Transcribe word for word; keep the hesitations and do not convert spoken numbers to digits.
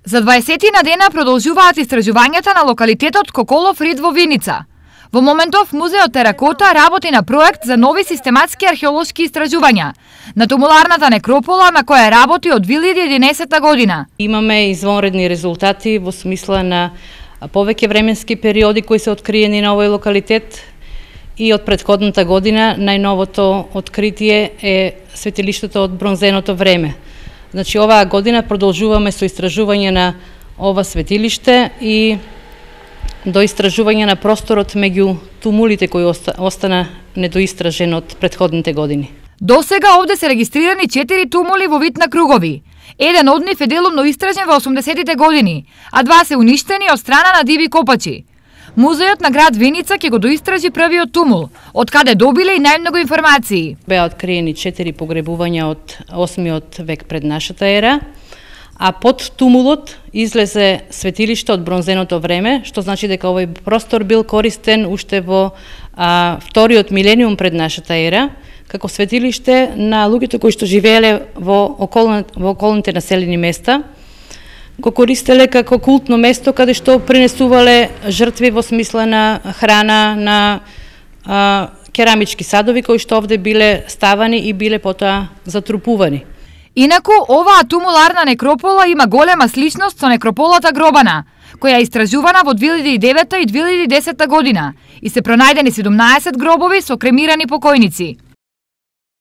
За дваесетина дена продолжуваат истражувањата на локалитетот Коколов рид во Виница. Во моментов Музеот Теракота работи на проект за нови систематски археолошки истражувања на тумуларната некропола на која работи од две илјади и единаесетта година. Имаме извонредни резултати во смисла на повеќе временски периоди кои се откриени на овој локалитет и од претходната година најновото откритие е светилиштето од бронзеното време. Значи, оваа година продолжуваме со истражување на ова светилиште и до истражување на просторот меѓу тумулите кои остана недоистражен од претходните години. До сега овде се регистрирани четири тумули во вид на кругови. Еден од нив е делумно истражен во осумдесетите години, а два се уништени од страна на диви копачи. Музеот на град Виница ќе го доистражи првиот тумул, од каде добиле и најмногу информации. Беа откриени четири погребувања од осмиот век пред нашата ера, а под тумулот излезе светилиште од бронзеното време, што значи дека овој простор бил користен уште во а, вториот милениум пред нашата ера, како светилиште на луѓето кои што живееле во, околни, во околните населени места, го користеле како култно место каде што принесувале жртви во смисла на храна, на а, керамички садови кои што овде биле ставани и биле потоа затрупувани. Инаку, оваа тумуларна некропола има голема сличност со некрополата Гробана, која е истражувана во две илјади и девета и две илјади и десетта година и се пронајдени седумнаесет гробови со кремирани покојници.